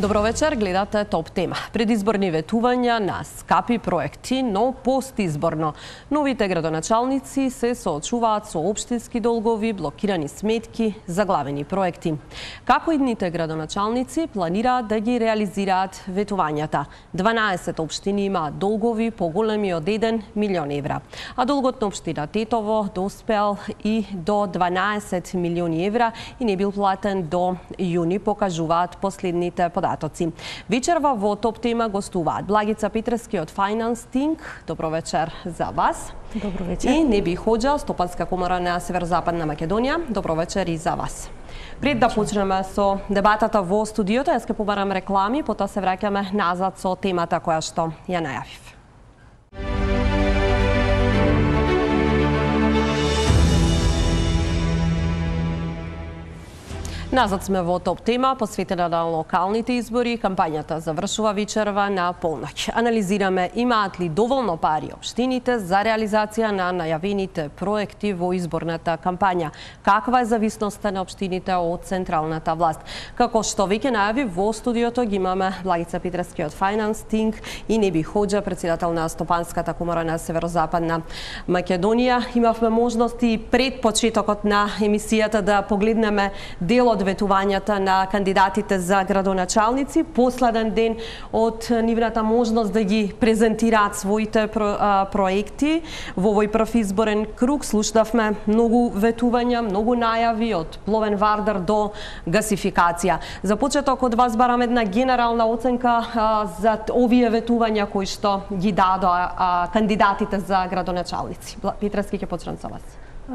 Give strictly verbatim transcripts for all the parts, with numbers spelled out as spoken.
Добро вечер, гледате Топ тема. Предизборни ветувања на скапи проекти, но постизборно. Новите градоначалници се соочуваат со општински долгови, блокирани сметки, заглавени проекти. Како идните градоначалници планираат да ги реализираат ветувањата? дванаесет општини имаат долгови поголеми од еден милион евра, а долгот на општина Тетово доспел и до дванаесет милиони евра и не бил платен до јуни, покажуваат последните податоци. Вечерва во Топ тема гостуваат Благица Петрески од Finance Think. Добро вечер за вас. Добро вечер. И Неби Хоџа, Стопанска комора на Северозападна Македонија. Добро вечер и за вас. Пред да почнеме со дебатата во студиото, јас ќе побарам реклами, потоа се враќаме назад со темата која што ја најавив. Назад сме во Топ тема, посветена на локалните избори. Кампањата завршува вечерва на полноќ. Анализираме имаат ли доволно пари општините за реализација на најавените проекти во изборната кампања. Каква е зависноста на општините од централната власт? Како што веќе најави, во студиото ги имаме Благица Петрески од Finance Think и Неби Хоџа, председател на Стопанската комора на Северозападна Македонија. Имавме можност и пред почетокот на емисијата да погледнеме дел од ветувањата на кандидатите за градоначалници, последен ден од нивната можност да ги презентираат своите про, а, проекти. Во овој прв изборен круг слушнавме многу ветувања, многу најави од пловен вардар до гасификација. За почеток од вас барам една генерална оценка а, за овие ветувања кои што ги дадоа а, кандидатите за градоначалници. Петрески, ќе почнам со вас.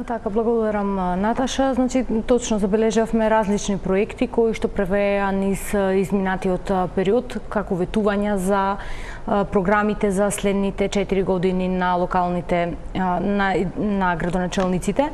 Така, благодарам, Наташа. Значи, точно забележавме различни проекти кои што превеа низ изминатиот период како ветувања за програмите за следните четири години на локалните на, на градоначалниците.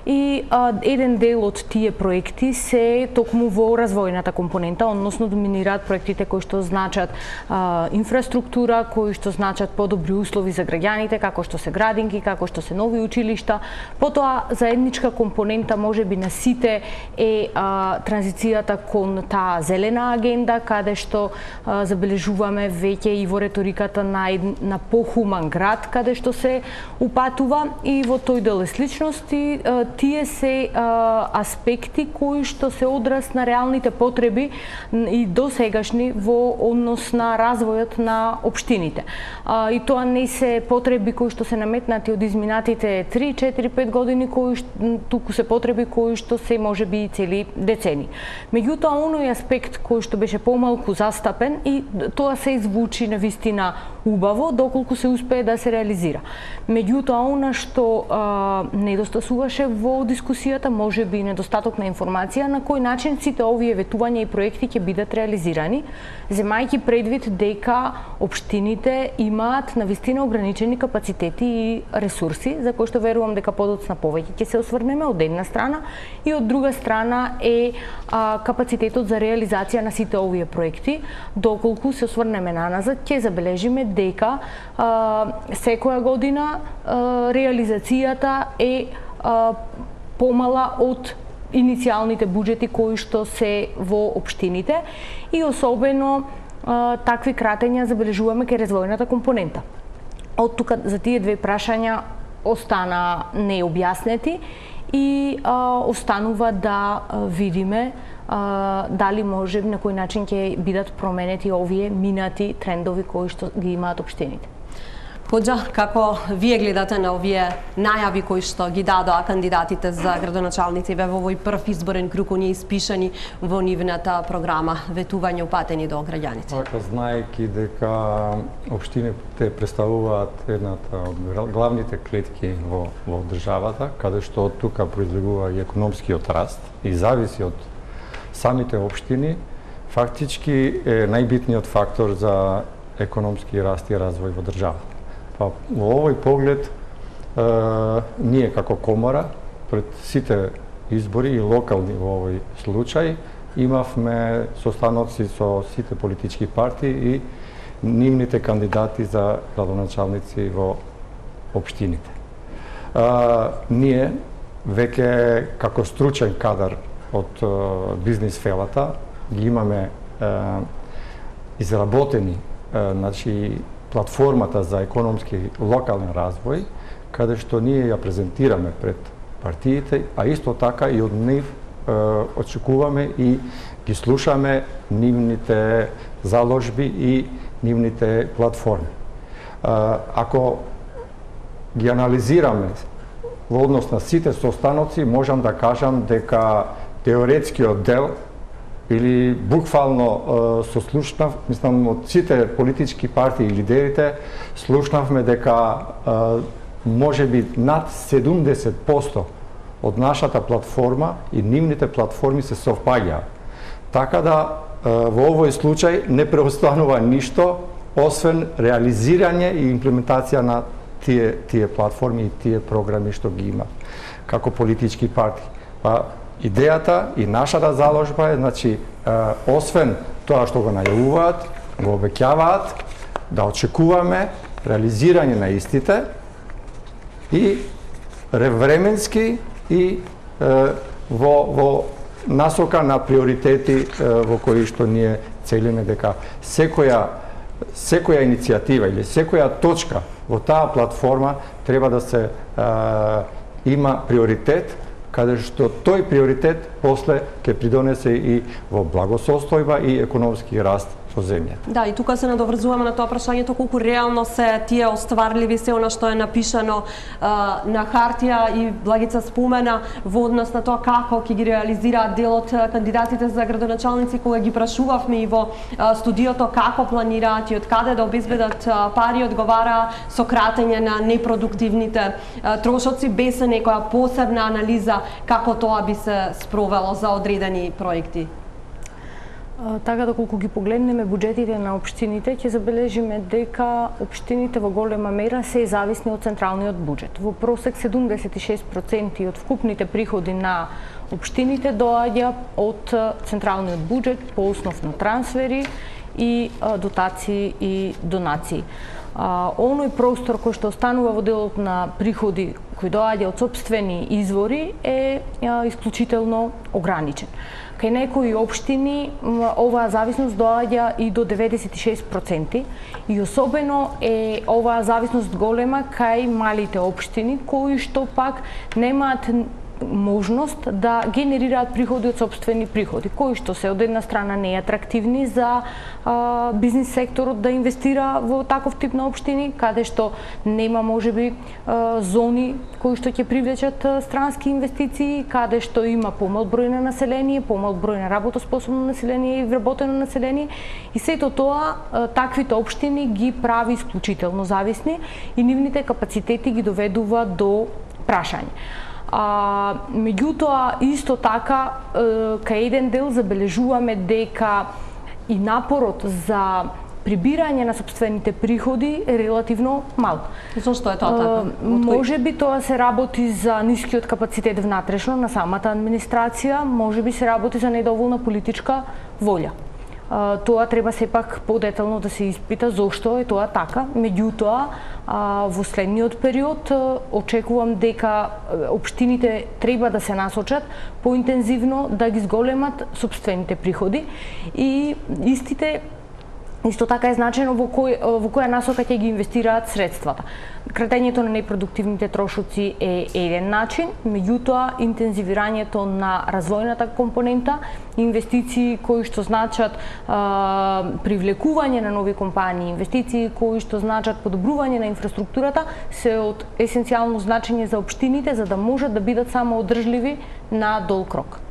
И а, еден дел од тие проекти се токму во развојната компонента, односно доминираат проектите кои што значат а, инфраструктура, кои што значат подобри услови за граѓаните, како што се градинки, како што се нови училишта. Потоа заедничка компонента можеби на сите е а, транзицијата кон таа зелена агенда, каде што а, забележуваме веќе и во реториката на, на похуман град, каде што се упатува и во тој дел е сличност и а, тие се а, аспекти кои што се одраз на реалните потреби и досегашни во однос на развојот на општините. А, и тоа не се потреби кои што се наметнати од изминатите три, четири, пет години, кои што, туку се потреби кои што се можеби и цели децени. Меѓутоа, оној аспект кој што беше помалку застапен и тоа се извучи на вистина убаво, доколку се успее да се реализира. Меѓутоа, она што а, недостасуваше во дискусијата, може би недостаток на информација на кој начин сите овие ветувања и проекти ќе бидат реализирани, земајќи предвид дека општините имаат навистина ограничени капацитети и ресурси, за кои што верувам дека подоцна повеќе ќе се осврнеме од една страна и од друга страна е а, капацитетот за реализација на сите овие проекти. Доколку се осврнеме наназад, ќе забележиме дека а, секоја година а, реализацијата е а, помала од иницијалните буџети кои што се во општините и особено а, такви кратења забележуваме кај развојната компонента. Од тука за тие две прашања остана необјаснети и а, останува да а, видиме а, дали може на кој начин ќе бидат променети овие минати трендови кои што ги имаат општините. Хоџа, како вие гледате на овие најави кои што ги дадоа кандидатите за градоначалници во овој прв изборен круг, оние испишани во нивната програма ветување упатени до граѓаните? Така, знаејќи дека општините представуваат едната од главните клетки во, во државата, каде што од тука произлегува и економскиот раст и зависи од самите општини, фактички е најбитниот фактор за економски раст и развој во државата. Па, во овој поглед, е, ние како комора, пред сите избори и локални во овој случај, имавме состаноци со сите политички партии и нивните кандидати за градоначалници во општините. Е, ние веќе како стручен кадар од е, бизнис фелата ги имаме е, изработени значи платформата за економски локален развој, каде што ние ја презентираме пред партиите, а исто така и од нив очекуваме и ги слушаме нивните заложби и нивните платформи. Ако ги анализираме во однос на сите состаноци, можам да кажам дека теоретскиот дел или буквално сослушнав, мислам, од сите политички партии и лидерите, слушнавме дека може би над седумдесет проценти од нашата платформа и нивните платформи се совпаѓаат. Така да во овој случај не преостанува ништо освен реализирање и имплементација на тие тие платформи и тие програми што ги има како политички партии. Па идејата и нашата заложба е, значи, освен тоа што го најавуваат, го обеќаваат, да очекуваме реализирање на истите и временски и е, во, во насока на приоритети е, во кои што ние целиме дека секоја секоја иницијатива или секоја точка во таа платформа треба да се е, има приоритет, каде што тој приоритет после ќе придонесе и во благосостојба и економски раст со земјата. Да, и тука се надоврзуваме на тоа прашањето колку реално се тие остварливи се она што е напишано а, на хартија, и Благица спомена во однос на тоа како ќе ги реализираат дел од кандидатите за градоначалници, кога ги прашувавме и во а, студиото како планираат и од каде да обезбедат а, пари, одговара со кратење на непродуктивните а, трошоци, без некоја посебна анализа како тоа би се спровело за одредени проекти. Така да колку ги погледнеме буџетите на општините, ќе забележиме дека општините во голема мера се зависни од централниот буџет. Во просек седумдесет и шест проценти од вкупните приходи на општините доаѓа од централниот буџет по основ на трансфери и дотации и донации. Оној простор кој што останува во делот на приходи кои доаѓа од сопствени извори е исклучително ограничен. Кај некои општини оваа зависност доаѓа и до деветдесет и шест проценти и особено е оваа зависност голема кај малите општини кои што пак немаат можност да генерираат приходи од сопствени приходи, кои што се од една страна неатрактивни за а, бизнис секторот да инвестира во таков тип на општини, каде што нема можеби а, зони кои што ќе привлечат а, странски инвестиции, каде што има помал број на население, помал број на работоспособно население и вработено население, и сето тоа а, таквите општини ги прави исклучително зависни и нивните капацитети ги доведува до прашање. А, меѓутоа, исто така, е, кај еден дел забележуваме дека и напорот за прибирање на сопствените приходи е релативно мал. Зошто е тоа така? Може би тоа се работи за нискиот капацитет внатрешно на самата администрација, може би се работи за недоволна политичка волја. Тоа треба сепак подетално да се испита зошто е тоа така. Меѓутоа, во следниот период очекувам дека општините треба да се насочат поинтензивно да ги зголемат сопствените приходи и истите исто така е значено во кој во која насока ќе ги инвестираат средствата. Кратењето на непродуктивните трошоци е еден начин, меѓутоа интензивирањето на развојната компонента, инвестиции кои што значат а, привлекување на нови компании, инвестиции кои што значат подобрување на инфраструктурата, се од есенцијално значење за општините за да можат да бидат самоодржливи на долг рок.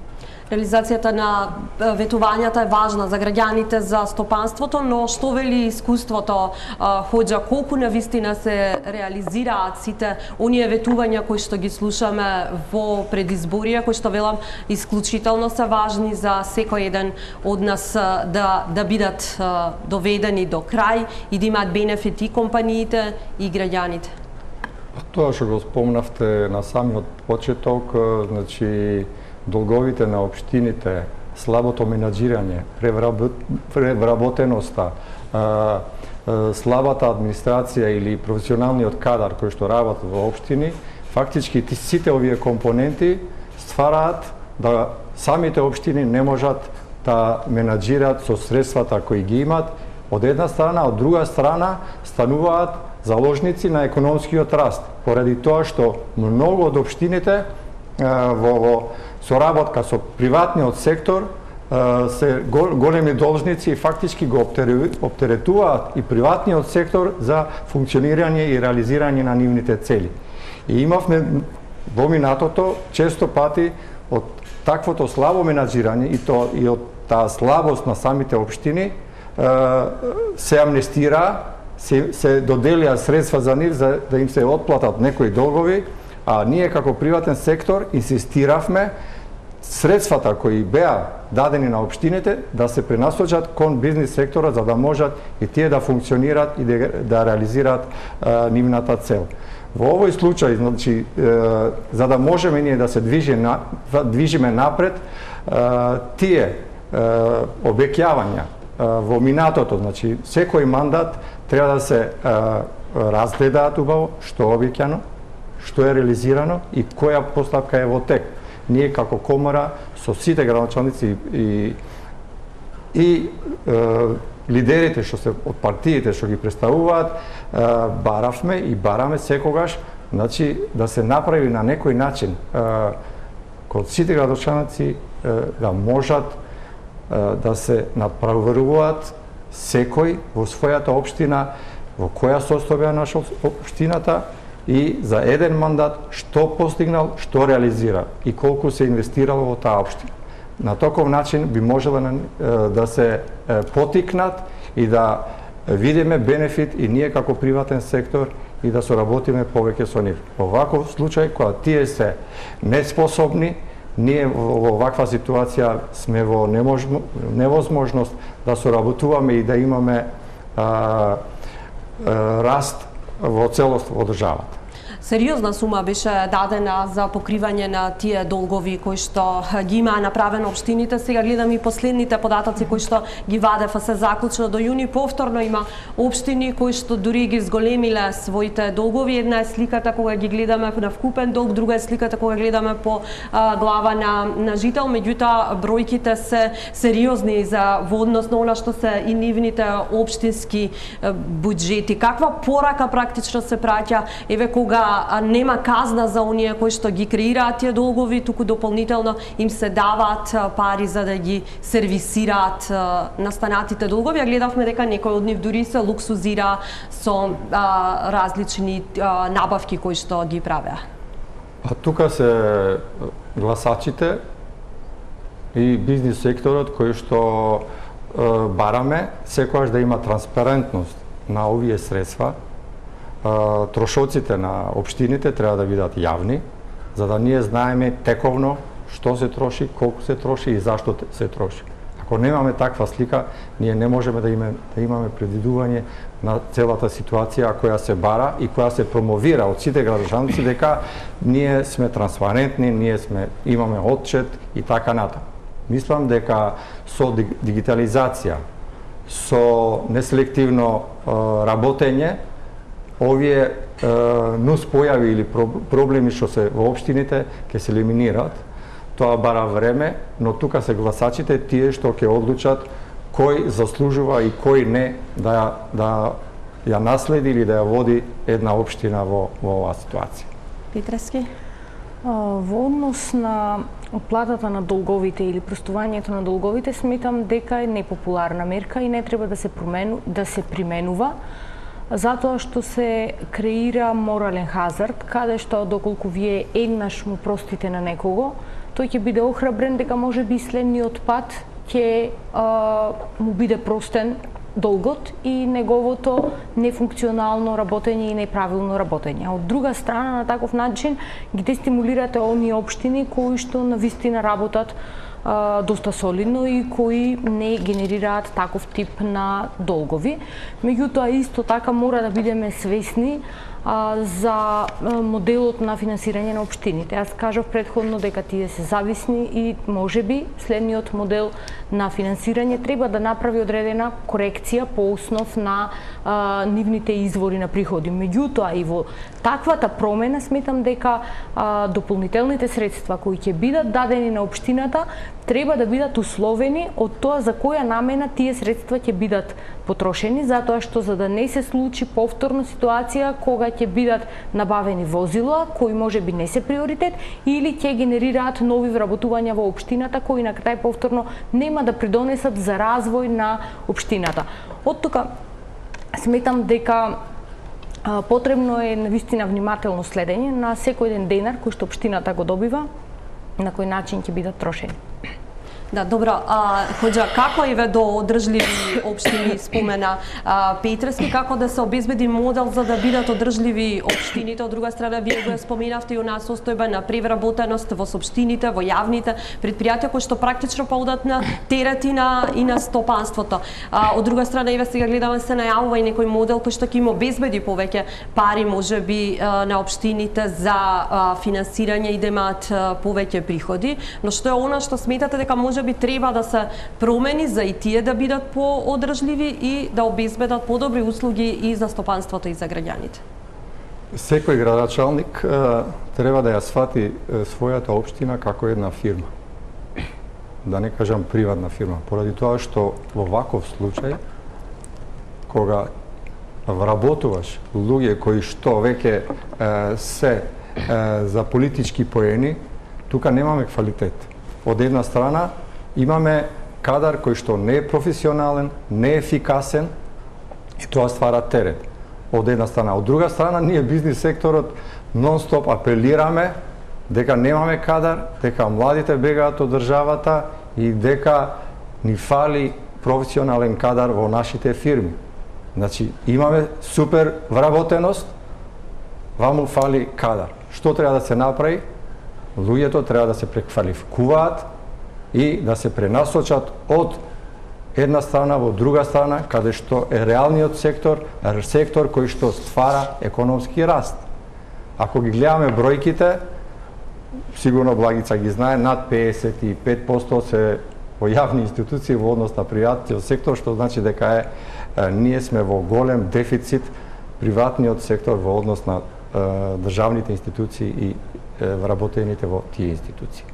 Реализацијата на ветувањата е важна за граѓаните, за стопанството, но што вели искуството, Хоџа, колку навистина се реализираат сите оние ветувања кои што ги слушаме во предизборија, кои што велам исклучително се важни за секој еден од нас да да бидат доведени до крај и да имаат бенефити и компаниите и граѓаните? Тоа што го спомнавте на самиот почеток, значи долговите на општините, слабото менаџирање, превработеноста, слабата администрација или професионалниот кадар кој што работи во општини, фактички сите овие компоненти ствараат да самите општини не можат да менаџираат со средствата кои ги имат од една страна, од друга страна стануваат заложници на економскиот раст, поради тоа што многу од општините во, во соработка со приватниот сектор се големи должници и фактички го оптеретуваат и приватниот сектор за функционирање и реализирање на нивните цели. И имавме во минатото често пати од таквото слабо менаџирање и то и од таа слабост на самите општини се амнестира, се, се доделија средства за нив за да им се отплатат некои долгови, а ние како приватен сектор инсистиравме средствата кои беа дадени на општините да се пренасочат кон бизнис сектора за да можат и тие да функционираат и да, да реализираат а, нивната цел. Во овој случај, значи, е, за да можеме ние да се движиме, на, движиме напред, е, тие е, обеќавања е, во минатото, значи, секој мандат треба да се е, разгледаат убаво што е обеќано, што е реализирано и која постапка е во тек. Ние како комора со сите градоначалници и и е, лидерите што се од партиите што ги представуваат, е, баравме и бараме секогаш, значи да се направи на некој начин е, код сите градоначалници е, да можат е, да се надправуваат секој во својата општина, во која состојба е наша општината и за еден мандат што постигнал, што реализира и колку се инвестирало во таа општина. На таков начин би можело да се потикнат и да видиме бенефит и ние како приватен сектор и да соработиме повеќе со нив. Во ваков случај, кога тие се неспособни, ние во ваква ситуација сме во невозможност да соработуваме и да имаме а, а, раст во целост во државата. Сериозна сума беше дадена за покривање на тие долгови кои што ги имаа направено општините. Сега гледам и последните податоци кои што ги вадев, а се заклучно до јуни. Повторно има општини кои што дури ги зголемиле своите долгови. Една е сликата кога ги гледаме на вкупен долг, друга е сликата кога гледаме по а, глава на, на жител. Меѓутоа, бројките се сериозни за во однос на она што се и нивните општински буџети. Каква порака практично се праќа, еве кога нема казна за оние кои што ги креираат тие долгови, туку дополнително им се даваат пари за да ги сервисираат настанатите долгови. А гледавме дека некои од нив дури се луксузира со а, различни а, набавки кои што ги правеа. А тука се гласачите и бизнис секторот кои што е, бараме секогаш да има транспарентност на овие средства. Трошоците на општините треба да бидат јавни, за да ние знаеме тековно што се троши, колку се троши и зашто се троши. Ако немаме таква слика, ние не можеме да имаме, да имаме предвидување на целата ситуација која се бара и која се промовира од сите градоначалници дека ние сме транспарентни, ние сме имаме отчет и така натаму. Мислам дека со дигитализација, со неселективно работење, овие е, нус појави или проблеми што се во општините ќе се елиминираат. Тоа бара време, но тука се гласачите тие што ќе одлучат кој заслужува и кој не да да ја наследи или да ја води една општина во во оваа ситуација. Петрески? Во однос на оплатата на долговите или простувањето на долговите, сметам дека е непопуларна мерка и не треба да се промену, да се применува, затоа што се креира морален хазард, каде што доколку вие еднаш му простите на некого, тој ќе биде охрабрен дека може би следниот пат ќе му биде простен долгот и неговото нефункционално работење и неправилно работење. Од друга страна, на таков начин ги дестимулирате оние општини кои што навистина работат а, доста солидно и кои не генерираат таков тип на долгови. Меѓутоа, исто така мора да бидеме свесни а, за моделот на финансирање на општините. Аз кажав предходно дека тие се зависни и можеби следниот модел на финансирање треба да направи одредена корекција по основ на а, нивните извори на приходи. Меѓутоа, и во таквата промена сметам дека а, дополнителните средства кои ќе бидат дадени на општината треба да бидат условени од тоа за која намена тие средства ќе бидат потрошени, затоа што за да не се случи повторно ситуација кога ќе бидат набавени возила кои можеби не се приоритет или ќе генерираат нови вработувања во општината кои на крај повторно нема да придонесат за развој на општината. Од тука сметам дека потребно е навистина внимателно следење на секој еден денар кој што општината го добива, на кој начин ќе бидат трошени. Да, добро. А, Хоџа, како еве до одржливи општини спомена а, Петрески, како да се обезбеди модел за да бидат одржливи општините? Од друга страна, вие го споменавте и она состојба на превработеност во општините, во јавните предпријатија кои што практично поудат на терет и на, и на стопанството. А, од друга страна, еве сега гледаме се најавува и некој модел кој што ќе им обезбеди повеќе пари можеби на општините за а, финансирање и да имаат повеќе приходи, но што е она што сметате дека може би треба да се промени за и тие да бидат по-одржливи и да обезбедат подобри услуги и за стопанството и за граѓаните? Секој градоначалник треба да ја свати својата општина како една фирма. Да не кажам приватна фирма, поради тоа што во ваков случај кога вработуваш луѓе кои што веќе се за политички поени, тука немаме квалитет. Од една страна имаме кадар кој што не е професионален, не е ефикасен и тоа ствара терет. Од една страна. Од друга страна, ние бизнис секторот нон-стоп апелираме дека немаме кадар, дека младите бегаат од државата и дека ни фали професионален кадар во нашите фирми. Значи, имаме супер вработеност, ваму фали кадар. Што треба да се направи? Луѓето треба да се преквалификуваат и да се пренасочат од една страна во друга страна, каде што е реалниот сектор, сектор кој што ствара економски раст. Ако ги гледаме бројките, сигурно Благица ги знае, над педесет и пет проценти се во јавни институции во однос на приватниот сектор, што значи дека е, е ние сме во голем дефицит приватниот сектор во однос на е, државните институции и вработените во тие институции.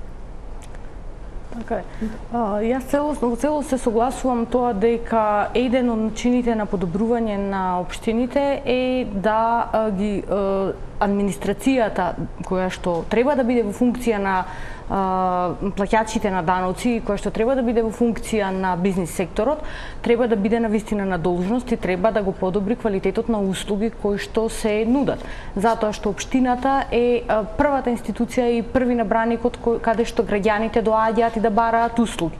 Така е. Јас целосно, во целост се согласувам тоа дека еден од начините на подобрување на општините е да ги администрацијата која што треба да биде во функција на плаќачите на даноци, која што треба да биде во функција на бизнис секторот, треба да биде навистина на должност и треба да го подобри квалитетот на услуги кои што се нудат. Затоа што општината е првата институција и први набраникот каде што граѓаните доаѓаат и да бараат услуги.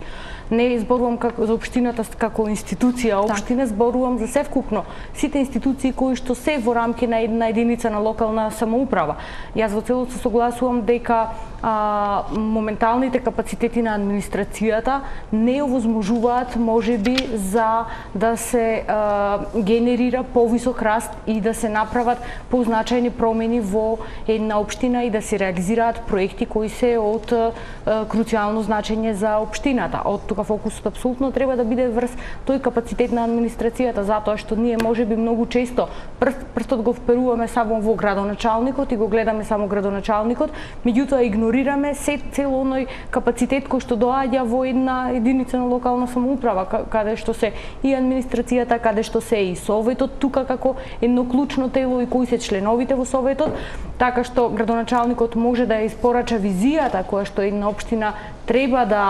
Не зборувам како за општината како институција, општина, зборувам за севкупно сите институции кои што се во рамки на една единица на локална самоуправа. Јас во целост се согласувам дека а, моменталните капацитети на администрацијата не овозможуваат можеби за да се а, генерира повисок раст и да се направат позначајни промени во една општина и да се реализираат проекти кои се од а, круцијално значење за општината. Од тука фокусот апсолутно треба да биде врз тој капацитет на администрацијата, затоа што ние можеби многу често прст, прстот го вперуваме само во градоначалникот и го гледаме само градоначалникот, меѓутоа игнорираме се цел оној капацитет кој што доаѓа во една единица на локална самоуправа, каде што се и администрацијата, каде што се и советот тука како едно клучно тело и кои се членовите во советот, така што градоначалникот може да испорача визијата која што една општина треба да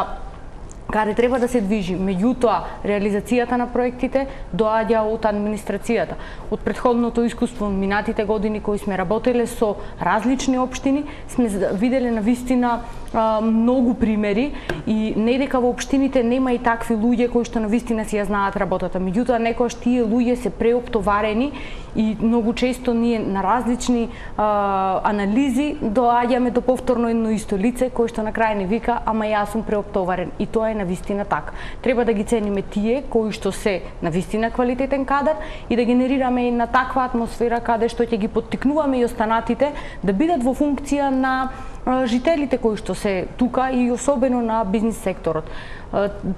каде треба да се движи. Меѓутоа, реализацијата на проектите доаѓа од администрацијата. Од претходното искуство од минатите години кои сме работеле со различни општини, сме виделе навистина многу примери и не дека во општините нема и такви луѓе кои што навистина си ја знаат работата. Меѓутоа, некојаш тие луѓе се преоптоварени и многу често ние на различни а, анализи доаѓаме до повторно едно исто лице кој што на крај не вика, ама јас сум преоптоварен. И тоа е навистина така. Треба да ги цениме тие кои што се навистина квалитетен кадар и да генерираме една таква атмосфера каде што ќе ги поттикнуваме и останатите да бидат во функција на жителите кои што се тука и особено на бизнис секторот.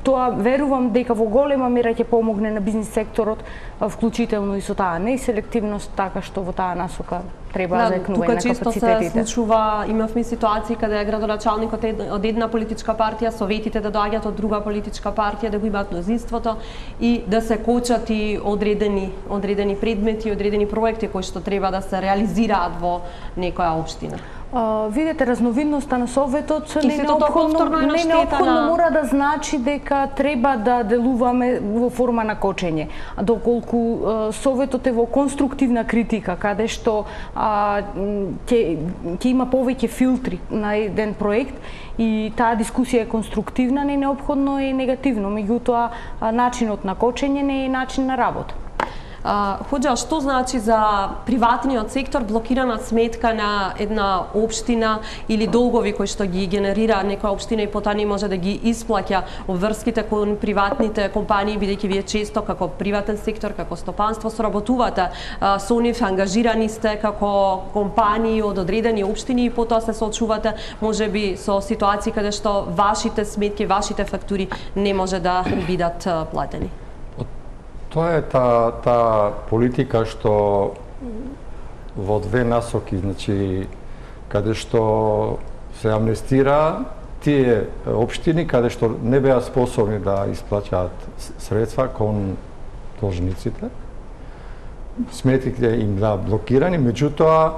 Тоа верувам дека во голема мера ќе помогне на бизнис секторот, вклучително и со таа неселективност, така што во таа насока треба да, заекнување на капацитетите. Тука често се случува, имавме ситуации каде градоначалникот од една политичка партија, советите да доаѓаат од друга политичка партија, да го имаат мнозинството и да се кочат и одредени одредени предмети, одредени проекти кои што треба да се реализираат во некоја општина. Uh, видете, разновидноста на Советот не неопходно, не неопходно на... мора да значи дека треба да делуваме во форма на кочење. Доколку uh, Советот е во конструктивна критика, каде што ќе uh, има повеќе филтри на еден проект и таа дискусија е конструктивна, не неопходно е негативно. Меѓутоа, uh, начинот на кочење не е начин на работа. Хоџа, што значи за приватниот сектор блокирана сметка на една општина или долгови кои што ги генерира некоја општина и потоа не може да ги исплаќа обврските кон приватните компании, бидејќи вие често како приватен сектор, како стопанство соработувате со нив, ангажирани сте како компании од одредени општини и потоа се соочувате можеби со ситуации каде што вашите сметки, вашите фактури не може да бидат платени. Тоа е таа та политика што во две насоки, значи каде што се амнестира тие општини каде што не беа способни да исплаќаат средства кон должниците. Сметките им да блокирани, меѓутоа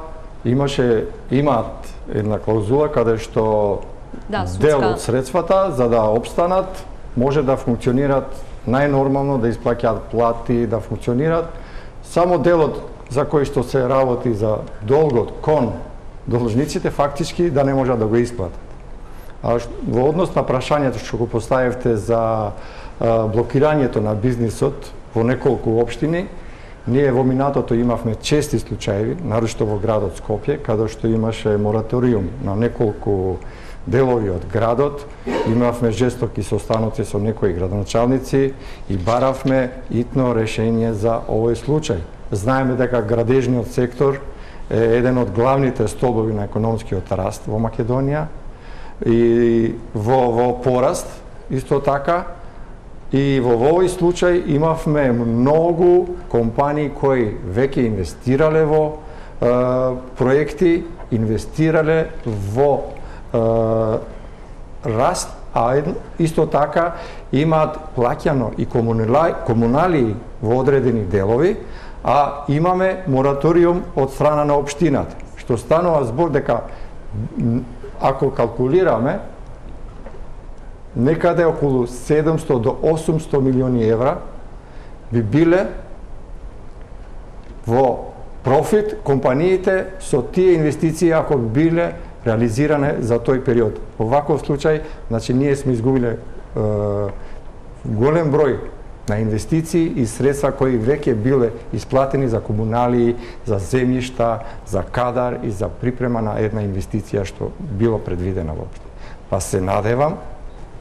имаше имаат една клаузула каде што да, дел од средствата за да опстанат може да функционираат најнормално, да исплаќаат плати, да функционираат. Само делот за кој што се работи за долгот кон должниците фактички да не можат да го исплатат. А во однос на прашањето што го поставивте за а, блокирањето на бизнисот во неколку општини, ние во минатото имавме чести случаи, нарочно во градот Скопје, каде што имаше мораториум на неколку делови од градот, имавме жестоки состаноци со некои градоначалници и баравме итно решение за овој случај. Знаеме дека градежниот сектор е еден од главните столбови на економскиот раст во Македонија и во, во пораст исто така. И во овој случај имавме многу компании кои веќе инвестирале во е, проекти, инвестирале во раст, а исто така имаат плаќано и комунали во одредени делови, а имаме мораториум од страна на општината, што станува збор дека ако калкулираме некаде околу седумсто до осумсто милиони евра би биле во профит компаниите со тие инвестиции ако би биле реализиране за тој период. Во ваков случај, значи ние сме изгубиле е, голем број на инвестиции и средства кои веќе биле исплатени за комунали, за земјишта, за кадар и за припрема на една инвестиција што било предвидена воопшто. Па се надевам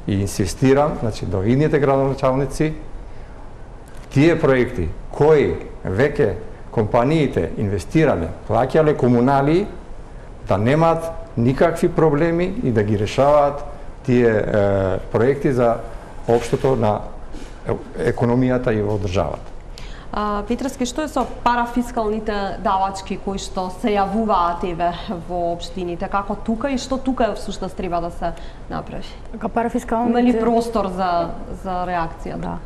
и инсистирам, значи до идните градоначалници, тие проекти кои веќе компаниите инвестирале, плаќале комунали, да немаат никакви проблеми и да ги решаваат тие е, проекти за општото на економијата и во државата. Петровски, што е со парафискалните давачки кои што се јавуваат еве во општините? Како тука и што тука всушност треба да се направи? Така парафискалните... Има ли простор за за реакција? Да.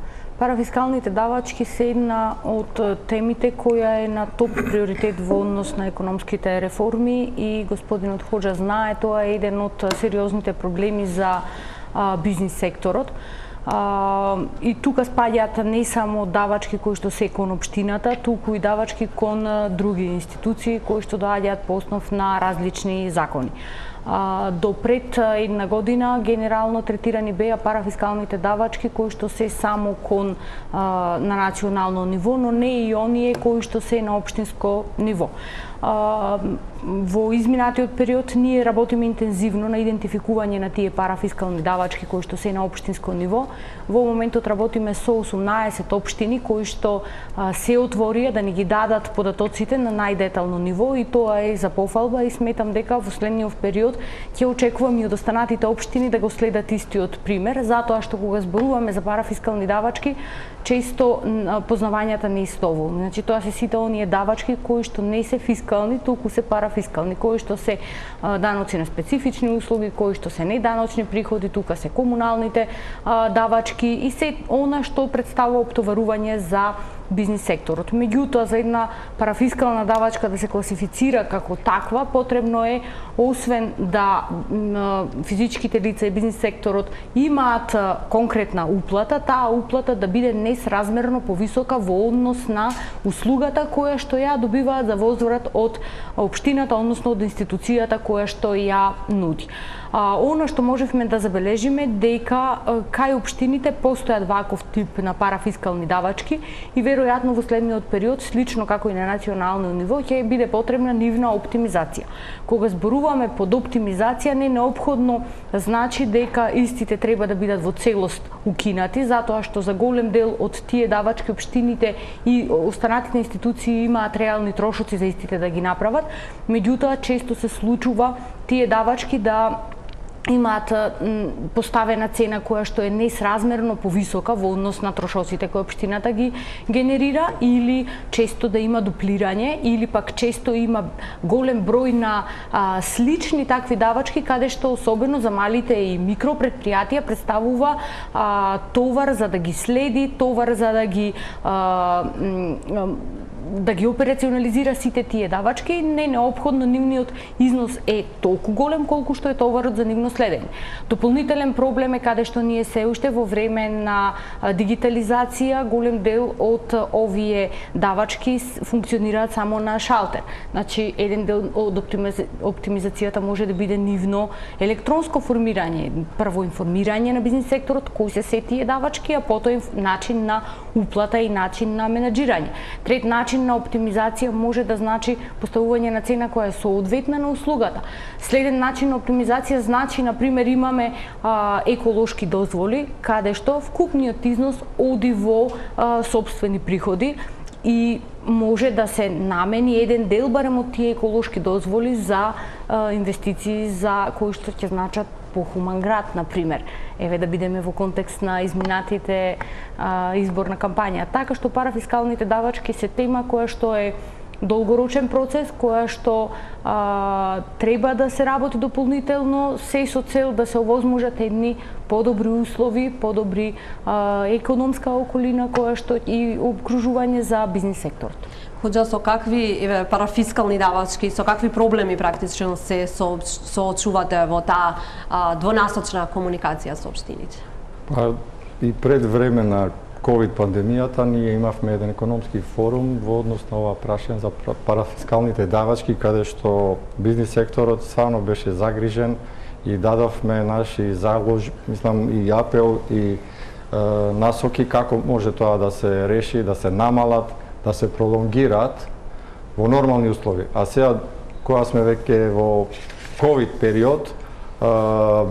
Парафискалните давачки се една од темите која е на топ приоритет во однос на економските реформи и господинот Хоџа знае, тоа е еден од сериозните проблеми за а, бизнис секторот. А, и тука спаѓаат не само давачки кои што се кон општината, туку и давачки кон други институции кои што доаѓаат по основ на различни закони. А, до пред една година генерално третирани беа парафискалните давачки кои што се само кон а, на национално ниво, но не и оние кои што се на општинско ниво. А, во изминатиот период ние работиме интензивно на идентификување на тие парафискални давачки кои што се на општинско ниво. Во моментот работиме со осумнаесет општини кои што а, се отворија да ни ги дадат податоците на најдетално ниво и тоа е за пофалба и сметам дека во следниот период период, ќе очекувам и од останатите општини да го следат истиот пример, затоа што кога зборуваме за парафискални давачки, често познавањата не истоволни. Значи тоа се сите оние давачки кои што не се фискални, туку се парафискални, кои што се даноци на специфични услуги, кои што се неданочни приходи, тука се комуналните давачки и се она што представува оптоварување за бизнис секторот. Меѓутоа, за една парафискална давачка да се класифицира како таква, потребно е, освен да физичките лица и бизнис секторот имаат конкретна уплата, таа уплата да биде несразмерно повисока во однос на услугата која што ја добиваат за возврат од општината, односно од институцијата која што ја нуди. А, оно што можевме да забележиме дека кај општините постојат ваков тип на парафискални давачки и веројатно во следниот период, слично како и на национално ниво, ќе биде потребна нивна оптимизација. Кога зборуваме под оптимизација, не неопходно значи дека истите треба да бидат во целост укинати, затоа што за голем дел од тие давачки општините и останатите институции имаат реални трошоци за истите да ги направат, меѓутоа често се случува тие давачки да имаат поставена цена која што е несразмерно повисока во однос на трошоците кои општината ги генерира, или често да има дуплирање, или пак често има голем број на а, слични такви давачки, каде што особено за малите и микропредпријатија представува а, товар за да ги следи, товар за да ги а, да ги операционализира сите тие давачки, не неопходно нивниот износ е толку голем колку што е товарот за нивно следење. Дополнителен проблем е каде што ние се уште во време на дигитализација голем дел од овие давачки функционираат само на шалтер. Значи еден дел од оптимизацијата може да биде нивно електронско формирање, прво информирање на бизнис секторот кои се се тие давачки, а потоа начин на уплата и начин на менаџирање. Трет начин на оптимизација може да значи поставување на цена која е соодветна на услугата. Следен начин на оптимизација значи, на пример, имаме а, еколошки дозволи, каде што вкупниот износ оди во а, собствени приходи и може да се намени еден дел барем од тие еколошки дозволи за а, инвестиции за кои што ќе значат похуман град, на пример. Еве да бидеме во контекст на изминатите а, изборна кампања. Така што парафискалните давачки се тема која што е долгорочен процес, која што а, треба да се работи дополнително, се со цел да се овозможат едни подобри услови, подобри а, економска околина која што и обкружување за бизнис секторот. Хоџа, со какви еве, парафискални давачки, со какви проблеми практично се соочувате во таа двонасочна комуникација со општините? Па, и пред време на ковид пандемијата ние имавме еден економски форум во однос на ова прашање за парафискалните давачки, каде што бизнис секторот стварно беше загрижен и дадовме наши заложби, мислам и апел и е, насоки како може тоа да се реши, да се намалат, да се пролонгираат во нормални услови. А сега, кога сме веќе во ковид период,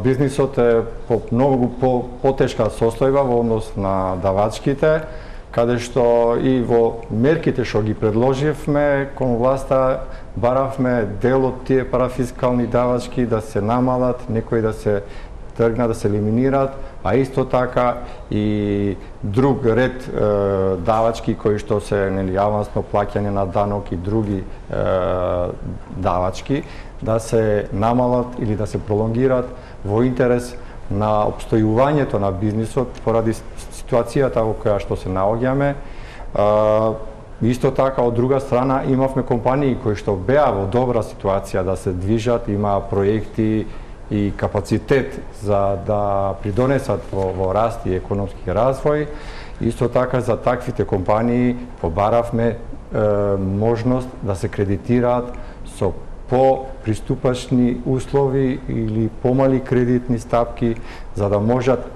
бизнисот е по многу по, потешка состојба во однос на давачките, каде што и во мерките што ги предложивме кон власта, баравме дел од тие парафискални давачки да се намалат, некои да се тргнат, да се елиминираат, а исто така и друг ред е, давачки кои што се нели авансно плаќање на данок и други е, давачки да се намалат или да се пролонгираат во интерес на обстојувањето на бизнисот поради ситуацијата во која што се наоѓаме. Исто така, од друга страна, имавме компании кои што беа во добра ситуација да се движат, имаа проекти и капацитет за да придонесат во, во раст и економски развој. Исто така, за таквите компании побаравме е, можност да се кредитираат со по-приступачни услови или помали кредитни стапки, за да можат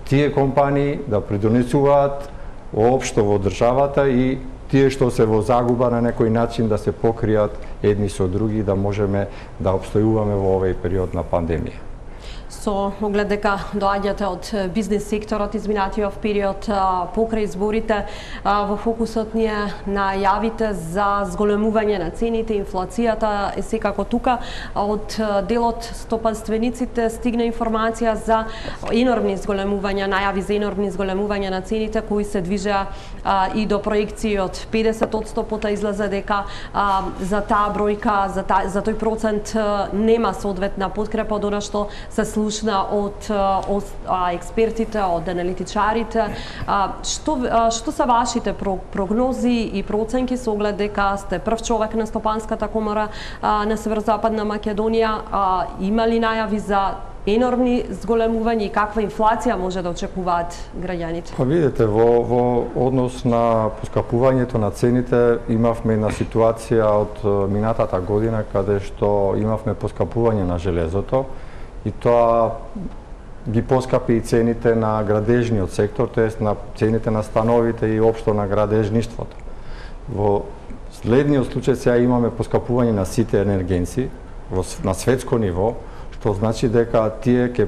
тие компании да придонесуваат општо во државата и тие што се во загуба на некој начин да се покријат едни со други, да можеме да обстојуваме во овој период на пандемија. со оглед дека доаѓате од бизнес секторот изминатиот период покрај изборите, во фокусот ни е најавите за зголемување на цените, инфлацијата е секако тука. Од делот стопанствениците стигна информација за енормни зголемувања, најави за енормни зголемувања на цените кои се движеа и до проекции од педесет одсто, пота излезе дека а, за таа бројка, за, та, за тој процент нема соодветна подкрепа од она што се слушна од, од а, експертите, од аналитичарите. А, што, а, што се вашите прогнози и проценки со оглед дека сте прв човек на Стопанската комора а, на Северозападна Македонија? А, има ли најави за енормни зголемувања и каква инфлација може да очекуваат граѓаните? Па видите, во, во однос на поскапувањето на цените имавме една ситуација од минатата година каде што имавме поскапување на железото и тоа ги поскапи и цените на градежниот сектор, тоест на цените на становите и општо на градежништвото. Во следниот случај сега имаме поскапување на сите енергенци во, на светско ниво, што значи дека тие ќе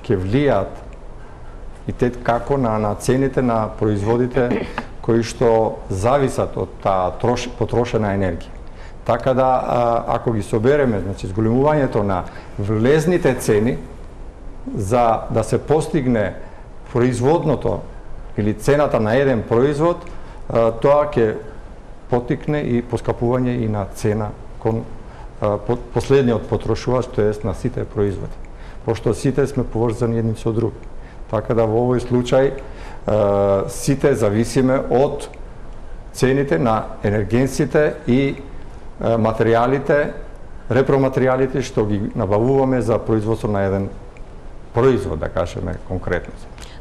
ќе влијаат и те како на на цените на производите кои што зависат од таа трош, потрошена енергија. Така да а, ако ги собереме, значи зголемувањето на влезните цени за да се постигне производното или цената на еден производ, а, тоа ќе потикне и поскапување и на цена кон последниот потрошувач, тоест на сите производи, пошто сите сме поврзани едни со други. Така да во овој случај сите зависиме од цените на енергенците и материјалите, репроматеријалите што ги набавуваме за производство на еден производ, да кажеме конкретно.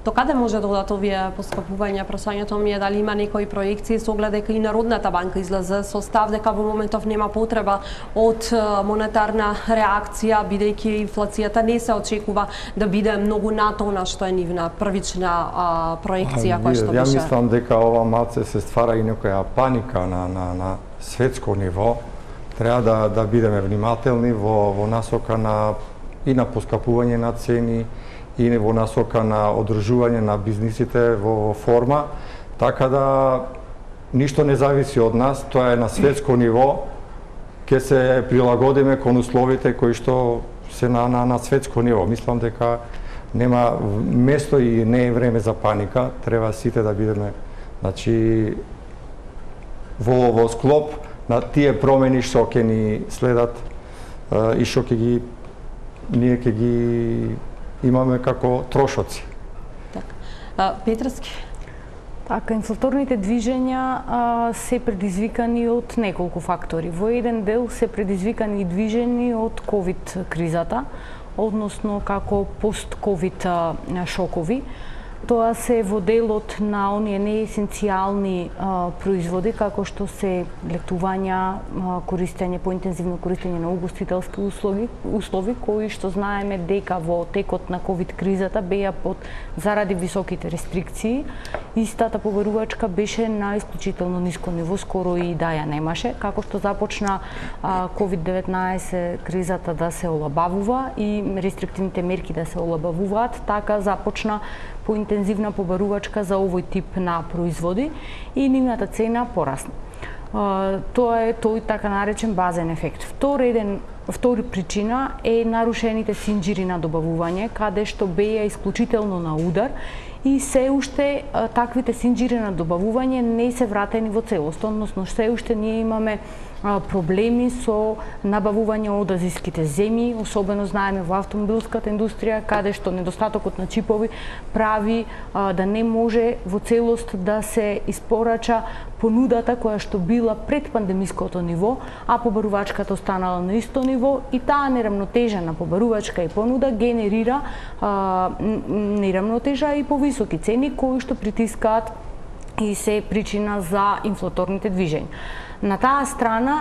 До каде може да одат овие поскапувања? Прашањето ми е дали има некои проекции со оглед дека и Народната банка излезе со став дека во моментов нема потреба од монетарна реакција, бидејќи инфлацијата не се очекува да биде многу над она што е нивна првична а, проекција која што беше. Ја мислам дека ова малце се ствара и некоја паника на на на светско ниво. Треба да да бидеме внимателни во во насока на и на поскапување на цени и во насока на одржување на бизнисите во форма, така да ништо не зависи од нас, тоа е на светско ниво, ќе се прилагодиме кон условите кои што се на, на, на светско ниво. Мислам дека нема место и не е време за паника, треба сите да бидеме, значи, во, во склоп на тие промени што ќе ни следат и што ќе ги ние ќе ги имаме како трошоци. Така. Петровски? Така, инфлаторните движења а, се предизвикани од неколку фактори. Во еден дел се предизвикани и движени од ковид кризата, односно како пост-ковид шокови. Тоа се во делот на оние неесенцијални производи, како што се летувања, а, користење, поинтензивно користење на угостителски услови, услови кои што знаеме дека во текот на ковид кризата беа под заради високите рестрикции. Истата побарувачка беше на исклучително ниско ниво, скоро и да ја немаше, како што започна ковид деветнаесет кризата да се олабавува и рестриктивните мерки да се олабавуваат, така започна поинтензивна побарувачка за овој тип на производи и нивната цена порасна. Тоа е тој така наречен базен ефект. Втори еден Втори причина е нарушените синџири на добавување, каде што беа исклучително на удар и се уште таквите синџири на добавување не се вратени во целост, односно се уште ние имаме проблеми со набавување од азиските земји, особено знаеме во автомобилската индустрија, каде што недостатокот на чипови прави а, да не може во целост да се испорача понудата која што била пред пандемиското ниво, а побарувачката останала на исто ниво и таа неравнотежа на побарувачка и понуда генерира а, неравнотежа и повисоки цени кои што притискаат и се причина за инфлаторните движења. На таа страна,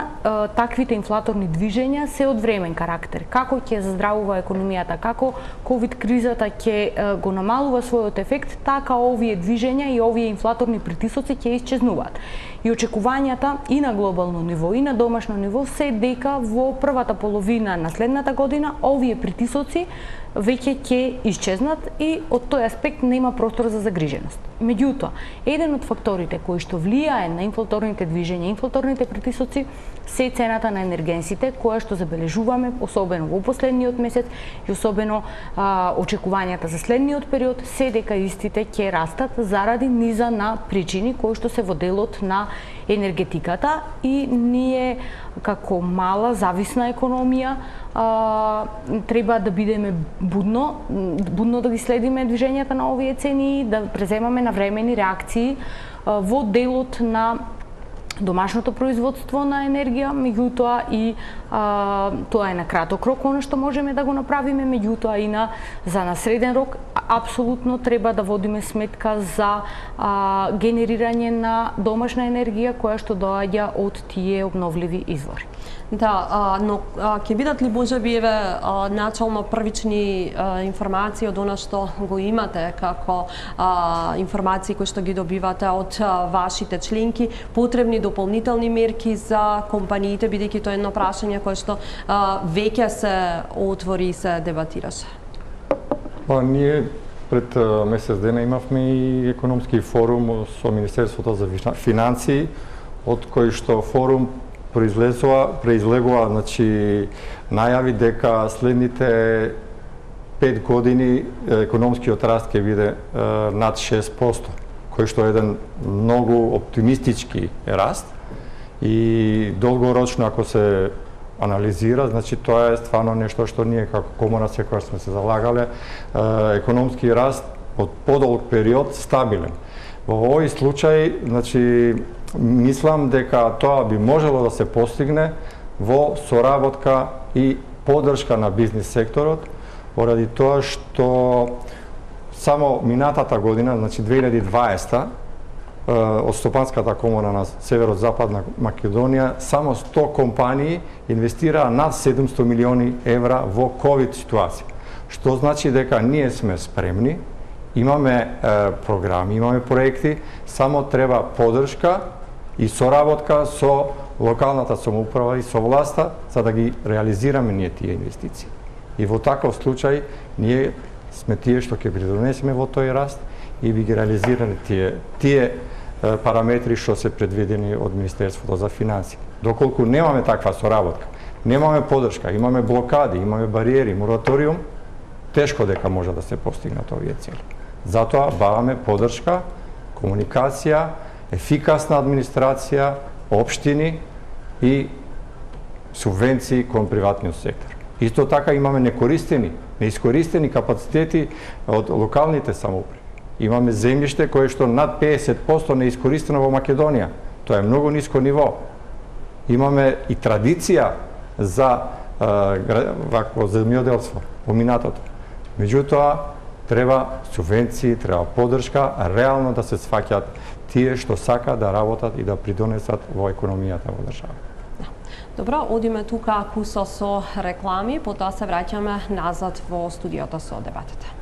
таквите инфлаторни движења се од времен карактер. Како ќе заздравува економијата, како ковид кризата ќе го намалува својот ефект, така овие движења и овие инфлаторни притисоци ќе исчезнуваат. И очекувањата и на глобално ниво и на домашно ниво се дека во првата половина на следната година овие притисоци веќе ќе исчезнат и од тој аспект нема простор за загриженост. Меѓутоа, еден од факторите кои што влијае на инфлаторните движења, инфлаторните притисоци се цената на енергенсите, која што забележуваме особено во последниот месец и особено а, очекувањата за следниот период се дека истите ќе растат заради низа на причини кои што се во делот на енергетиката и ние како мала зависна економија а, треба да бидеме будно, будно да ги следиме движењата на овие цени, да преземаме навремени реакции а, во делот на домашното производство на енергија, меѓутоа и а, тоа е на краток рок она што можеме да го направиме, меѓутоа и на за на среден рок апсолутно треба да водиме сметка за а, генерирање на домашна енергија која што доаѓа од тие обновливи извори. Да, а, но а, ќе бидат ли можеби еве а, начално првични а, информации од она што го имате како а, информации кои што ги добивате од а, вашите членки, потребни дополнителни мерки за компаниите, бидејќи тоа е едно прашање кое што а, веќе се отвори и се дебатираше? Па ние пред а, месец дена имавме и економски форум со Министерството за финансии, од кој што форум произлегува, произлегува значи, најави дека следните пет години економскиот раст ќе биде е, над шест проценти, кој што е еден многу оптимистички раст и долгорочно ако се анализира, значи тоа е стварно нешто што ние како комора секогаш сме се залагале, е, економски раст од подолг период стабилен. Во овој случај, значи, мислам дека тоа би можело да се постигне во соработка и поддршка на бизнис секторот, поради тоа што само минатата година, значи две илјади и дваесета, од Стопанската комора на Северо-Западна Македонија, само сто компании инвестираа над седумсто милиони евра во ковид ситуација. Што значи дека ние сме спремни, имаме е, програми, имаме проекти, само треба поддршка и соработка со локалната самоуправа и со власта за да ги реализираме ние тие инвестиции. И во таков случај ние сме тие што ќе придонесеме во тој раст и би ги реализираме тие тие е, параметри што се предвидени од Министерството за финансии. Доколку немаме таква соработка, немаме поддршка, имаме блокади, имаме бариери, мораториум, тешко дека може да се постигнат овие цели. Затоа баваме поддршка, комуникација, ефикасна администрација, општини и субвенции кон приватниот сектор. Исто така имаме некористени, неискористени капацитети од локалните самоуправи. Имаме земјиште кое што над педесет проценти неискористено во Македонија. Тоа е многу ниско ниво. Имаме и традиција за вакво земјоделство во минатото. Меѓутоа, треба субвенции, треба поддршка, реално да се сваќаат тие што сака да работат и да придонесат во економијата во држава. Добро, одиме тука кусо со реклами, потоа се враќаме назад во студиото со дебатите.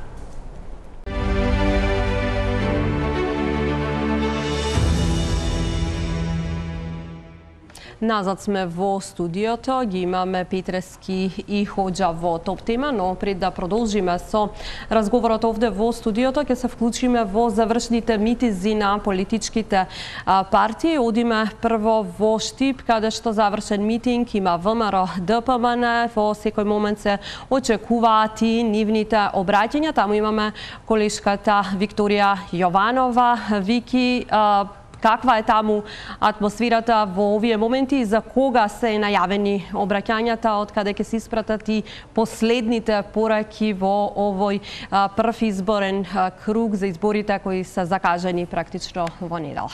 Назад сме во студиото, ги имаме Петрески и Хоџа во топ тема, но пред да продолжиме со разговорот овде во студиото, ќе се вклучиме во завршните митинзи на политичките партии. Одиме прво во Штип, каде што завршен митинг има ВМРО Д П М Н, во секој момент се очекуваат и нивните обраќања. Таму имаме колешката Викторија Јованова. Вики, каква е таму атмосферата во овие моменти и за кога се најавени обраќањата, од каде ќе се испратат и последните пораки во овој прв изборен круг за изборите кои се закажани практично во недела?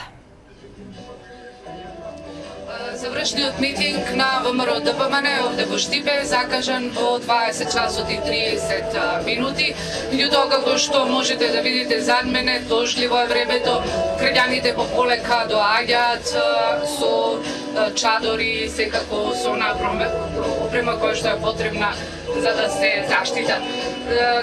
Завршниот митинг на ВМРО Д П М Н овде во Штипе закажан во дваесет часот и триесет минути. Меѓутоа, како што можете да видите зад мене, дожливо е времето, граѓаните пополека доаѓаат со чадори, секако со она опрема која што е потребна за да се заштитат.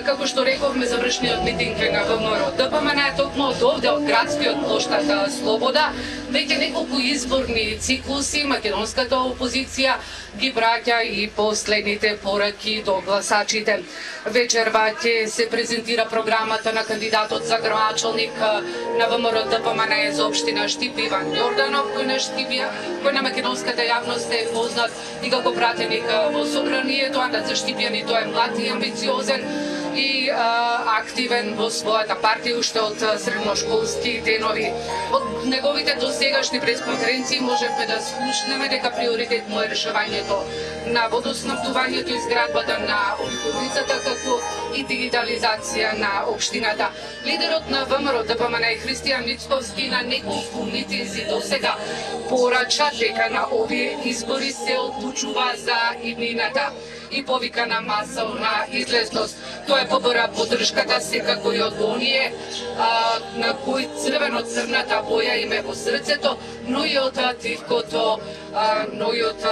Како што рековме, завршниот митинг е на ВМРО Д П М Н токму од овде, од градскиот плоштад Слобода. Веќе неколку изборни циклуси македонската опозиција ги браќа и последните пораки до гласачите. Вечерва ќе се презентира програмата на кандидатот за градоначалник на ВМРО Д П М Н за општина Штипе Иван Јорданов, кој на Штипе, кој на македонската јавност е познат и како пратеник во собранието, а за штипјани тој е млад и амбициозен и а, активен во својата партија уште од средношколски денови. Од неговите досегашни пресконференции можевме да слушнеме дека приоритет му е решавањето на водоснабдувањето и изградбата на обиколницата, како и дигитализација на општината. Лидерот на ВМРО Д П М Н Христијан Мицковски на неколку митинзи досега порача дека на овие избори се одлучува за иднината и повика на масовна излезност. Тоа е побора поддршката секако и од оние а, на кои црвено-црната боја им е во срцето, но и од тивкото, а, но и од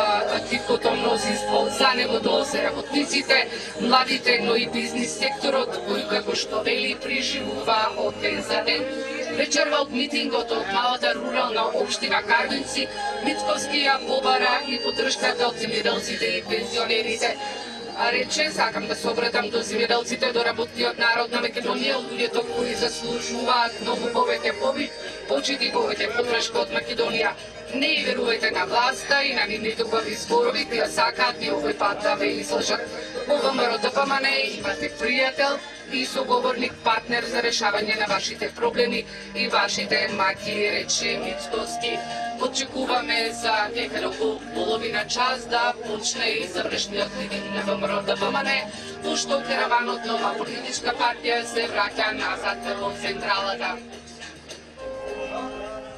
тивкото мнозинство. За него тоа се работниците, младите, но и бизнис секторот, кој како што вели преживува од ден за ден. Вечерва од митингот од малата рурална општина Кардинци, Мицковски ја побара и поддршката од земјоделците и пензионерите. А рече, сакам да се обратам до земјоделците, до работниот народ на Македонија, од луѓето кои заслужуваат многу повеќе почит и повеќе поддршка од Македонија. Не и верувајте на власта и на нивните убави зборови, кои сакаат и овој пат да ве излажат. Во ВМРО Д П М Н имате пријател и соговорник, партнер за решавање на вашите проблеми и вашите маки, рече Мицковски. Очекуваме за некаде околу половина час да почне и завршниот митинг на ВМРО Д П М Н, пошто караванот нова политичка партија се враќа назад во централата.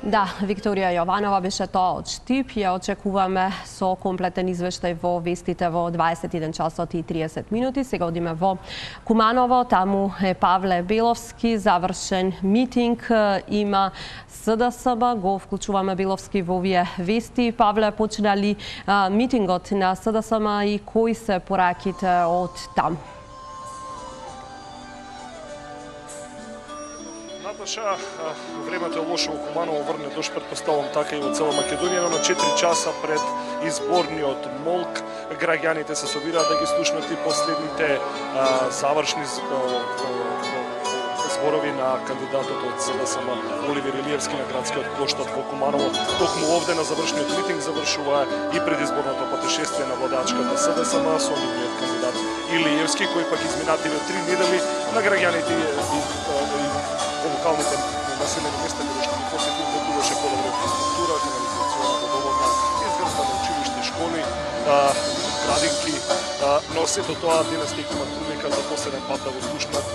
Да, Викторија Јованова беше тоа од Штип. Ја очекуваме со комплетен извештај во вестите во дваесет и еден часот и триесет минути. Сега одиме во Куманово, таму е Павле Беловски, завршен митинг има С Д С Б, го вклучуваме Беловски во овие вести. Павле, почна ли а, митингот на С Д С М и кои се пораките од таму? Наташа, времето е лошо во Куманово, врне дожд, претпоставам така и во цела Македонија, но на четири часа пред изборниот молк граѓаните се собираат да ги слушнат и последните а, завршни зборови на кандидатот од С Д С М Оливер Илиевски на градскиот плоштад во Куманово. Токму овде на завршниот митинг завршува и предизборното патешествие на владачката С Д С М со нивниот кандидат Илиевски, кој пак изминативе три недели на граѓаните и во локалните населени места каде што ги посетил добиваше подобра инфраструктура, канализациона, водоводна, изградба на училиште, школи, градинки, но сето тоа денес ќе имат прилика за последен пат да го слушнат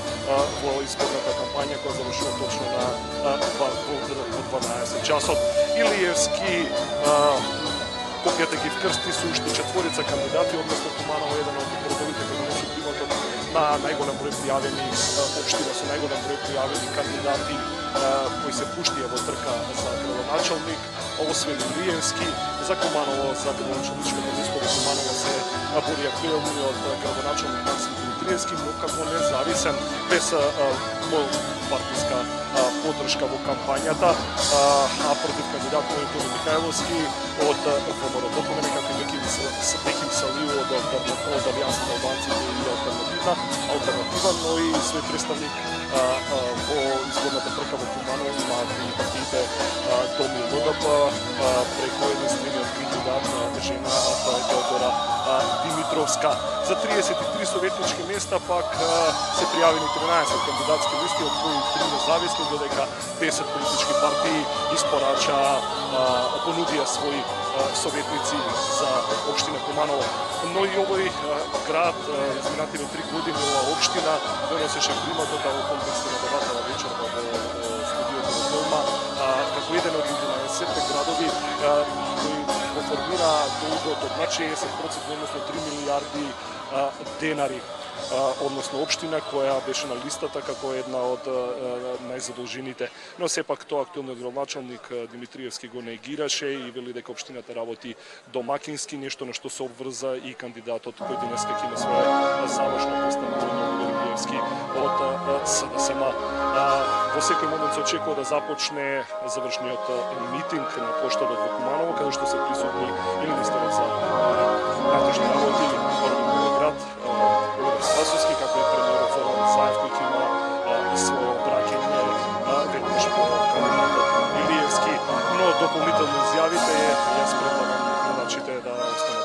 во изборната кампања која завршува точно на дванаесет часот. Илиевски копијата ги вкрсти со уште четворица кандидати, односно Куманово еден од родовите кои носи приматот на најголем број пријавени општина со најголем број пријавени кандидати кои се пуштија во трка за градоначалник. Освен Илиевски, за Куманово, за градоначалничкото место во Куманово се борија пријавувањето од градоначалник Максим Димитриевски, но како независен, без партиска поддршка во кампањата, а против кандидат Тони Михајловски од ВМРО Д П М Н, како и Беким Салиу од Алијанса на албанците и алтернативна, алтернатива, но и свој представник во изборната трка во Куманово имаат и партиите Томи Л Д П преку единствениот кандидат на жена, тоа е Теодора Димитровска. За триесет и три советнички места пак се пријавени тринаесет кандидатски листи, од кои три независни, додека десет политички партии испорача понудија своји советници за општина Куманово. Но и овој град изминативе три години ова општина донесеше приматот во контекстот на дебатава вечерва во студиото во Дома како еден од единаесет градови кои во формира долгот од над шеесет проценти, односно три милијарди денари. Односно општина која беше на листата како една од најзадолжените. Но сепак тоа актуелниот градоначалник Димитриевски го негираше и вели дека општината работи домакински, нешто на што се обврза и кандидатот кој денеска ќе има своја завршна представа Димитриевски од СДСМ. Во секој момент се очекува да започне завршниот митинг на плоштадот во Куманово, каде што се присутни и министерот за внатрешни работи, град Спасовски, како и премиерот Зоран Заев, кој има својо обраќање веднаш по кандидатот Илиевски, но дополнително изјавите јас предлагам гледачите да останат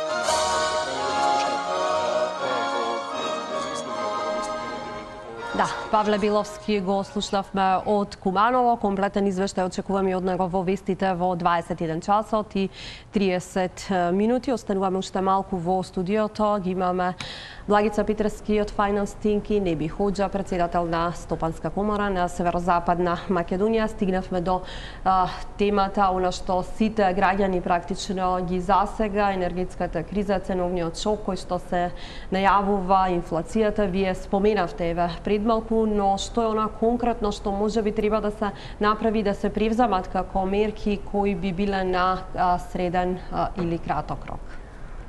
Да, Павле Биловски го слушнавме од Куманово. Комплетен извештај очекуваме од него во вестите во дваесет и еден часот и триесет минути. Остануваме уште малку во студиото. Ги имаме Благица Петрски од Finance Think и Неби Хоџа, председател на Стопанска комора на Северозападна Македонија. Стигнавме до а, темата, она што сите граѓани практично ги засега, енергетската криза, ценовниот шок кој што се најавува, инфлацијата. Вие споменавте еве пред малку, но што е она конкретно што можеби треба да се направи, да се превземат како мерки кои би биле на а, среден а, или краток рок?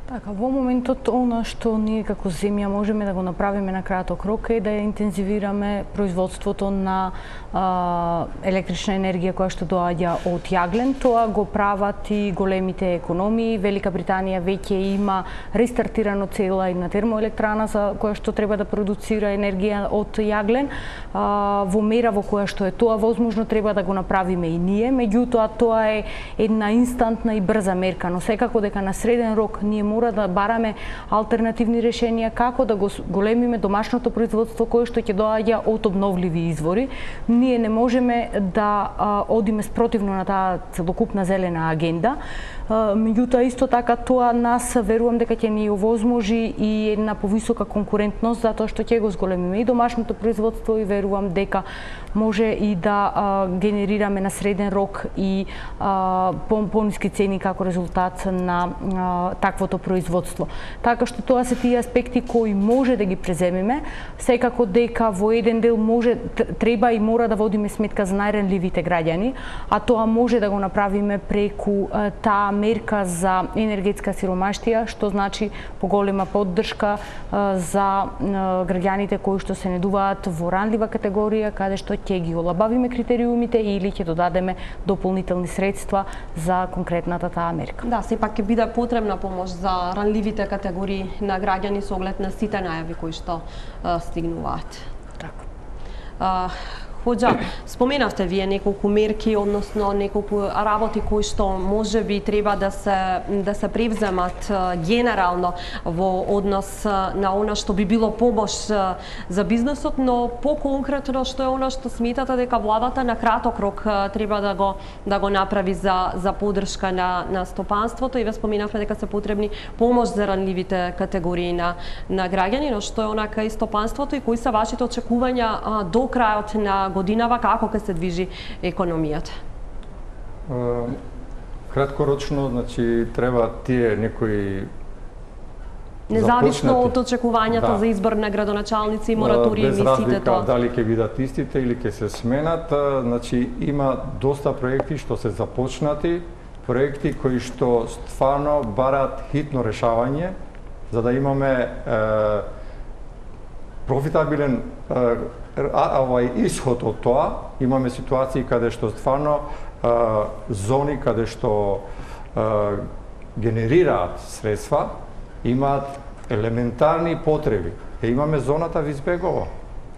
Така, во моментот она што ние како земја можеме да го направиме на краток рок е да ја интензивираме производството на а, електрична енергија која што доаѓа од јаглен. Тоа го прават и големите економии. Велика Британија веќе има рестартирано цела една термоелектрана за која што треба да продуцира енергија од јаглен. А, во мера во која што е тоа возможно треба да го направиме и ние. Меѓутоа тоа е една инстантна и брза мерка, но секако дека на среден рок ние мора да бараме алтернативни решенија како да го големиме домашното производство кое што ќе доаѓа од обновливи извори. Ние не можеме да а, одиме спротивно на таа целокупна зелена агенда. Меѓутоа исто така тоа нас верувам дека ќе ни овозможи и една повисока конкурентност затоа што ќе го зголемиме и домашното производство и верувам дека може и да а, генерираме на среден рок и а, по-ниски цени како резултат на а, таквото производство. Така што тоа се тие аспекти кои може да ги преземеме, секако дека во еден дел може треба и мора да водиме сметка за најранливите граѓани, а тоа може да го направиме преку а, таа мерка за енергетска сиромаштија, што значи поголема поддршка а, за а, граѓаните кои што се недуваат во ранлива категорија, каде што ќе ги олабавиме критериумите или ќе додадеме дополнителни средства за конкретната таа мерка. Да, сепак ќе биде потребна помош за ранливите категории на граѓани со оглед на сите најави кои што а, стигнуваат. Така. А, Хоџа, споменавте вие неколку мерки, односно неколку работи кои што можеби треба да се да се превземат генерално во однос на она што би било помош за бизнисот, но по-конкретно што е она што сметате дека владата на краток рок треба да го да го направи за за поддршка на на стопанството, и ве споменавме дека се потребни помош за ранливите категории на на граѓани, но што е онака и стопанството и кои се вашите очекувања а, до крајот на годинава, како ќе се движи економијата? Краткорочно, значи треба тие некои независно од очекувањата да. за избор на градоначалници, моратории, без мисите тоа. Дали ќе бидат истите или ќе се сменат, значи има доста проекти што се започнати, проекти кои што стварно барат хитно решавање, за да имаме е, профитабилен е, А, овај исход од тоа. Имаме ситуации каде што стварно а, зони каде што а, генерираат средства, имаат елементарни потреби. Е, имаме зоната Визбегово,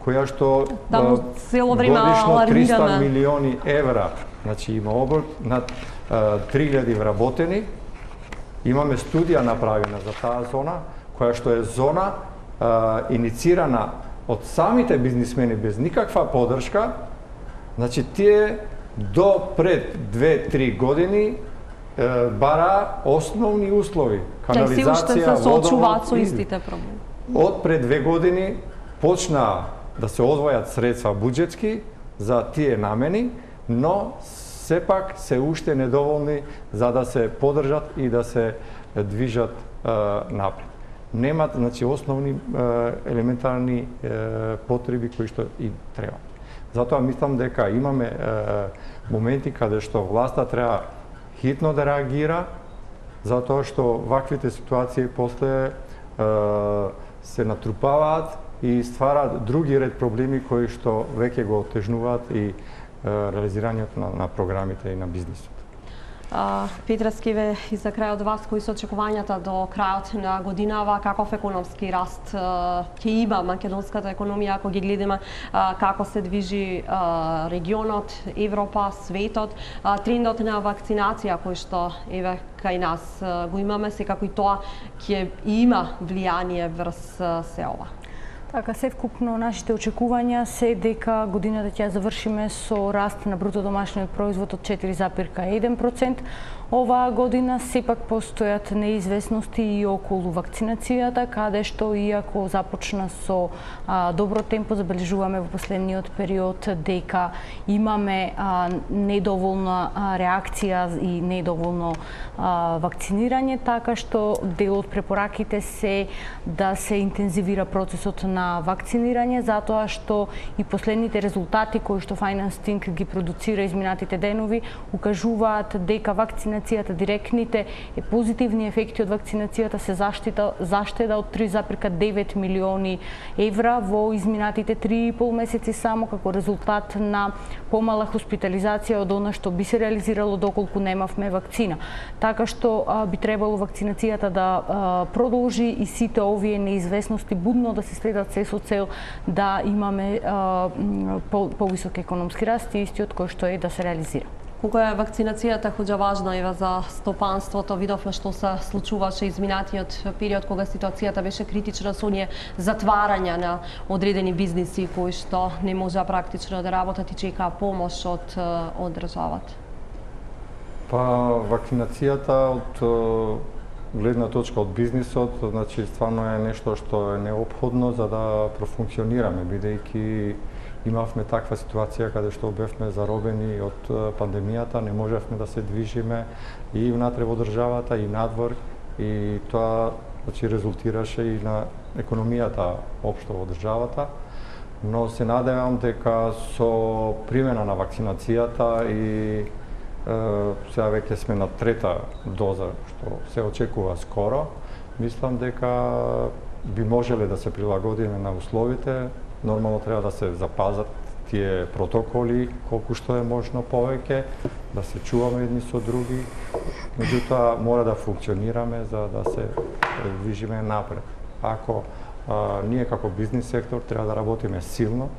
која што Таму цело време годишно триста алармираме. милиони евра, значи има обрт над три илјади вработени. Имаме студија направена за таа зона, која што е зона а, иницирана од самите бизнисмени без никаква поддршка. Значи тие до пред две-три години е, бара основни услови, канализација, водовод. Со истите проблеми. Од пред две години почна да се одвојат средства буџетски за тие намени, но сепак се уште недоволни за да се подржат и да се движат напред. Немат, значи, основни елементарни потреби кои што им треба. Затоа мислам дека имаме моменти каде што власта треба хитно да реагира, затоа што ваквите ситуации после се натрупаваат и ствараат други ред проблеми кои што веќе го отежнуваат и реализирањето на, на програмите и на бизнисот. Петра Скеве, и за крај од вас, кои се очекувањата до крајот на годинава, каков економски раст ќе има македонската економија, ако ги гледаме како се движи регионот, Европа, светот, трендот на вакцинација кој што еве кај нас го имаме, секако и тоа ќе има влијание врз се ова. Така, севкупно нашите очекувања се дека годината ќе завршиме со раст на бруто домашниот производ од четири зарез еден процент. Оваа година сепак постојат неизвестности и околу вакцинацијата, каде што иако започна со а, добро темпо, забележуваме во последниот период дека имаме а, недоволна а, реакција и недоволно а, вакцинирање, така што дел од препораките се да се интензивира процесот на вакцинирање, затоа што и последните резултати кои што Financing ги продуцира изминатите денови укажуваат дека вакцинацијата, директните позитивни ефекти од вакцинацијата се заштита, заштеда од три зарез девет милиони евра во изминатите три и пол месеци само како резултат на помала хоспитализација од она што би се реализирало доколку немавме вакцина. Така што а, би требало вакцинацијата да а, продолжи и сите овие неизвестности будно да се следат се со цел да имаме а, по, повисок економски раст и истиот кој што е да се реализира. Колку е вакцинацијата хоѓа важна ева за стопанството, видовме што се случуваше изминатиот период кога ситуацијата беше критична со оние затварања на одредени бизниси кои што не можеа практично да работат и чекаа помош од од државата. Па вакцинацијата од гледна точка од бизнисот, значи стварно е нешто што е неопходно за да профункционираме, бидејќи имавме таква ситуација каде што бевме заробени од пандемијата, не можевме да се движиме и внатре во државата и надвор, и тоа, значи, резултираше и на економијата општо во државата. Но се надевам дека со примена на вакцинацијата и е, сега веќе сме на трета доза што се очекува скоро, мислам дека би можеле да се прилагодиме на условите. Нормално треба да се запазат тие протоколи колку што е можно повеќе, да се чуваме едни со други, меѓутоа мора да функционираме за да се движиме напред. Ако а, ние како бизнис сектор треба да работиме силно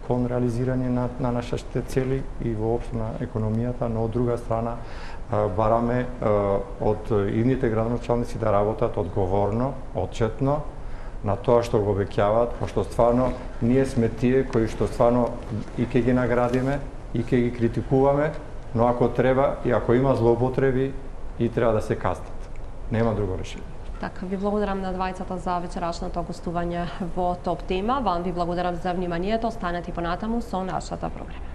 кон реализирање на, на нашите цели и воопшто на економијата, но од друга страна а, бараме а, од идните градоначалници да работат одговорно, отчетно, на тоа што го обеќаваат, пошто стварно ние сме тие кои што стварно и ќе ги наградиме, и ќе ги критикуваме, но ако треба и ако има злоупотреби, и треба да се каснат. Нема друго решение. Така, ви благодарам на двајцата за вечерашното гостување во Топ тема. Вам ви благодарам за вниманието. Останете понатаму со нашата програма.